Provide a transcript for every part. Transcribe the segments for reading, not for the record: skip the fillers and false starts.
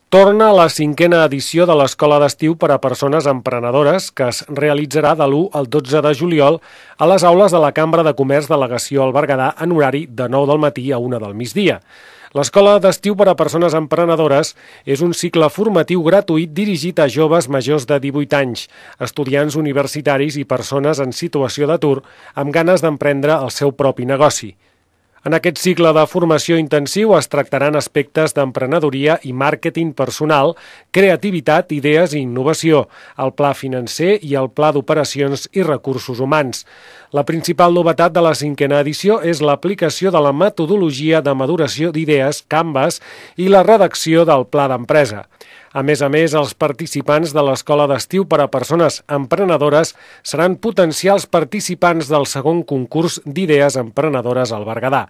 Torna la 5a edició de l'Escola d'Estiu per a Persones Emprenedores, que es realitzarà de l'1 al 12 de juliol a les aules de la Cambra de Comerç Delegació al Berguedà en horari de 9 del matí a 1 del migdia. L'Escola d'Estiu per a Persones Emprenedores és un cicle formatiu gratuït dirigit a joves majors de 18 anys, estudiants universitaris i persones en situació d'atur amb ganes d'emprendre el seu propi negoci. En aquest cicle de formació intensiu es tractaran aspectes d'emprenedoria i màrqueting personal, creativitat, idees i innovació, el pla financer i el pla d'operacions i recursos humans. La principal novetat de la 5a edició és l'aplicació de la metodologia de maduració d'idees, Canvas, i la redacció del pla d'empresa. A més, els participants de l'Escola d'Estiu per a Persones Emprenedores seran potencials participants del segon concurs d'idees emprenedores al Berguedà.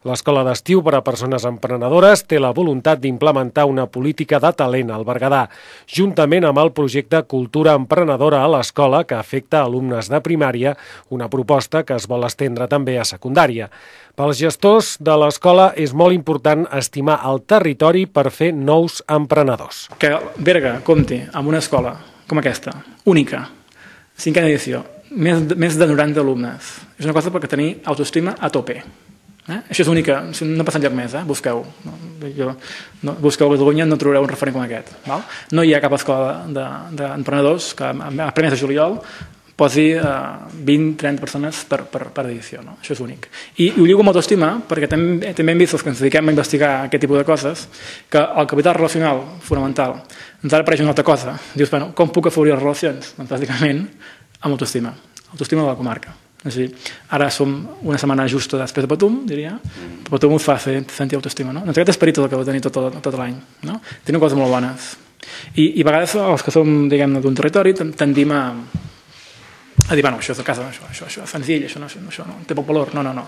L'Escola d'Estiu per a Persones Emprenedores té la voluntat d'implementar una política de talent al Berguedà, juntament amb el projecte Cultura Emprenedora a l'Escola, que afecta alumnes de primària, una proposta que es vol estendre també a secundària. Pels gestors de l'escola és molt important estimar el territori per fer nous emprenedors. Que Berga compti amb una escola com aquesta, única, 5a edició, més de 90 alumnes. És una cosa per tenir autoestima a tope. Això és única, no passa enlloc més, busqueu. Busqueu a Catalunya, no trobareu un referent com aquest. No hi ha cap escola d'emprenedors que a primers de juliol posi 20-30 persones per edició. Això és únic. I ho lligo amb autoestima perquè també hem vist els que ens dediquem a investigar aquest tipus de coses que el capital relacional fonamental ens ha d'aparèixer una altra cosa. Dius, com puc afavorir les relacions? Doncs bàsicament amb autoestima. Autoestima de la comarca. Ara som una setmana justa després de Patum, diria. Patum us fa sentir autoestima. Doncs aquest esperit el que va tenir tot l'any. Tenen coses molt bones. I a vegades els que som d'un territori tendim a dir, això és de casa, això és senzill, això no té poc valor. No.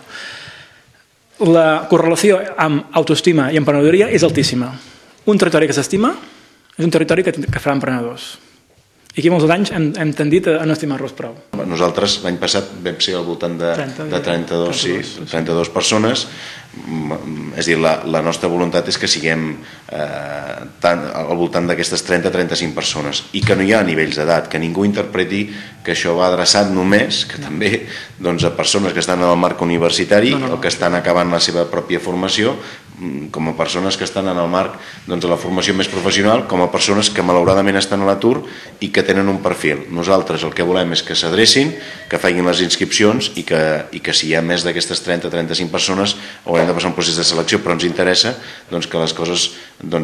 La correlació amb autoestima i emprenedoria és altíssima. Un territori que s'estima és un territori que farà emprenedors. I aquí molts anys hem tendit a no estimar-los prou. Nosaltres l'any passat vam ser al voltant de 32 persones. És a dir, la nostra voluntat és que siguem al voltant d'aquestes 30-35 persones i que no hi ha nivells d'edat, que ningú interpreti que això va adreçat només, que també a persones que estan en el marc universitari o que estan acabant la seva pròpia formació, com a persones que estan en el marc de la formació més professional, com a persones que malauradament estan a l'atur i que tenen un perfil. Nosaltres el que volem és que s'adrecin, que facin les inscripcions i que si hi ha més d'aquestes 30-35 persones haurem de passar un procés de selecció, però ens interessa que les coses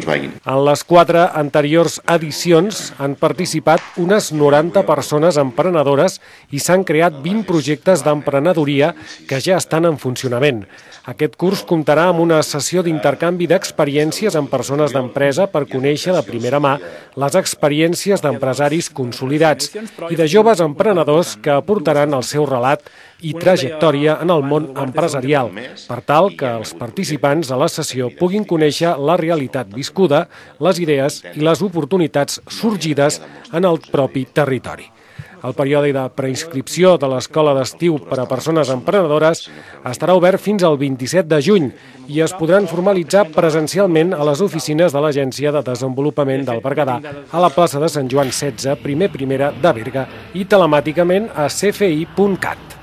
vagin. En les 4 anteriors edicions han participat unes 90 persones emprenedores i s'han creat 20 projectes d'emprenedoria que ja estan en funcionament. Aquest curs comptarà amb una sessió d'intercanvi d'experiències amb persones d'empresa per conèixer de primera mà les experiències d'empresaris consolidats i de joves emprenedors que aportaran el seu relat i trajectòria en el món empresarial, per tal que els participants a la sessió puguin conèixer la realitat viscuda, les idees i les oportunitats sorgides en el propi territori. El període de preinscripció de l'Escola d'Estiu per a Persones Emprenedores estarà obert fins al 27 de juny i es podran formalitzar presencialment a les oficines de l'Agència de Desenvolupament del Berguedà a la plaça de Sant Joan 16, primera de Berga, i telemàticament a cfi.cat.